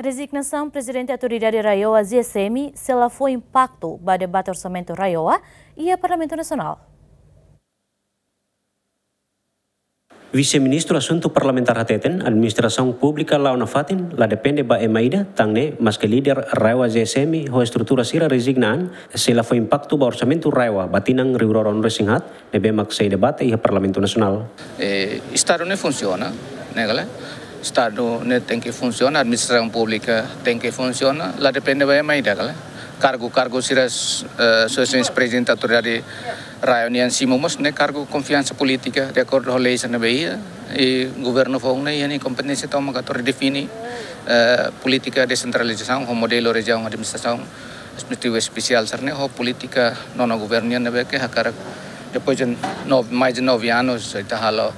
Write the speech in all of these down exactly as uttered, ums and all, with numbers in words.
Rezignasaun Prezidente Autoridade RAEOA, Z S M, sei la fó impaktu ba debate orsamentu RAEOA iha Parlamentu Nasionál. Vise-Ministru Asuntu Parlamentár hateten, administrasaun públika la'o nafatin la depende ba ema ida, tan ne'e maske líder RAEOA Z S M ho estrutura sira rezigna an, sei la fó impaktu ba orsamentu RAEOA ba tinan rihun rua ruanulu resin haat, ne'ebé mak sei debate iha Parlamentu Nasionál. Eh, Estadu ne'e funsiona, ne'e ka lae? Estadu ne'e tenke funsiona, administrasaun públika tenke funsiona, la depende ba ema ida ka lae? Kargu, kargu sira, eh, Sua Exelénsia Prezidente Autoridade RAEOA nian simu mós ne'e kargu konfiansa polítika, de akordu ho lei sira ne'ebé iha, i governu foun ne'e iha nia kompeténsia tomak atu redefine, eh, polítika desentralizasaun ho modelu rejiaun administrasaun administrativu espesiál sira-ne'e ho polítika nonu governu nian ne'ebé ke hakarak depois de nove, mais de nove anos ita halo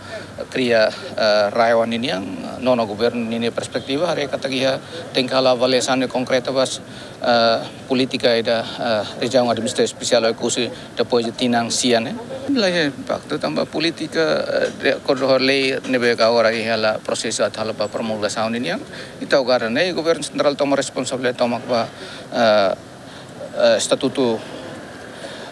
kria, eh, RAEOA ninian, nonu governu ninia perspetiva haree katak iha tenke halo avaliasaun konkreta ba, eh, polítika ida, eh, rejiaun administrativa espesiál Oekusi depois de tinan sia ne'e. La iha impaktu tanba polítika, eh, de akordu ho lei ne'ebé ke agora iha hela prosesu atu halo ba promulgasaun ninian. Ita agora ne'e governu sentrál toma responsabilidade tomak ba, eh, eh, estatutu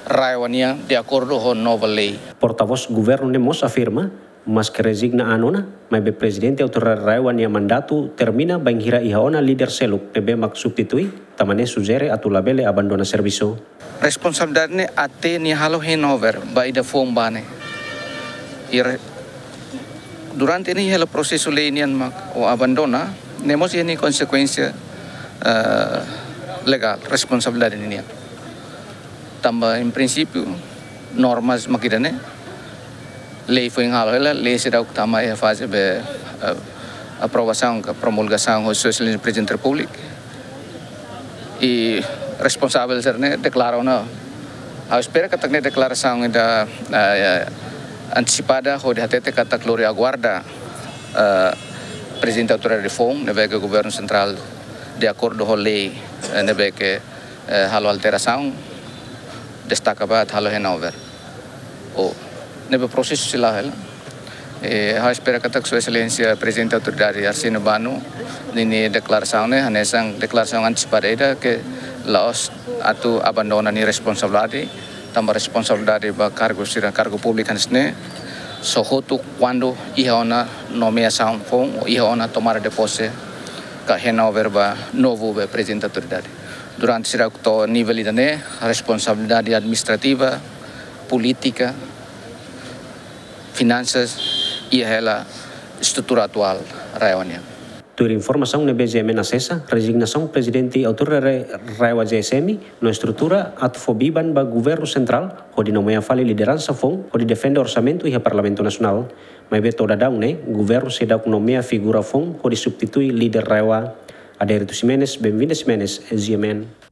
RAEOA nian de akordu ho nova lei. Portavós governu ne'e mós afirma, maske rezigna an ona, maibé Prezidente Autoridade RAEOA nia mandatu termina bainhira iha ona líder seluk ne'ebé mak substitui, tanba ne'e sujere atu labele abandona servisu. Responsabilidade ne'e até nia halo handover ba ida foun ba ne'e. I re-, durante ne'e hela prosesu lei nian mak o abandona, ne'e mós iha nia konsekuénsia, eh, legál, responsabilidade ninian. Tanba, em princípio, normas mak ida-ne'e, lei foin halo hela, lei seidauk tama iha faze be, eh, aprovasaun ka promulgasaun ho Sua Exelénsia Prezidente Repúblika. I responsavel sira-ne'e deklara ona, ha'u espera katak ne'e deklarasaun ida, eh, antesipada hodi hatete katak lori aguarda, eh, Prezidente Autoridade foun, ne'ebé ke governu sentrál de akordu ho lei, eh, ne'ebé ke, eh, halo alterasaun, destaka ba atu halo handover. O, ne'ebé prosesu sei la'o hela. Eh, ha'u espera katak Sua Exelénsia Prezidente Autoridade Arsénio Bano ninia deklarasaun ne'e hanesan deklarasaun antesipada ida ke la'ós atu abandona nia responsabilidade, tanba responsabilidade ba kargu sira, kargu públiku hanesan ne'e, só hotu kuandu iha ona nomeasaun foun, iha ona tomada de pose ka handover ba novu be Prezidente Autoridade. Durante sira to'o nivel ida-ne'e, responsabilidade administrativa, polítika, finansas, iha hela estrutura atuál RAEOA nian. Tuir informasaun ne'ebé G M N asesa, rezignasaun Prezidente Autoridade RAEOA Z S M no estrutura atu fó biban ba governu sentrál hodi nomeia fali lideransa foun hodi defende orsamentu iha Parlamentu Nasionál. Maibé to'o daudaun ne'e, governu seidauk nomeia figura foun hodi substitui líder RAEOA. Adérito Ximenes, Benvinda Ximenes, G M N.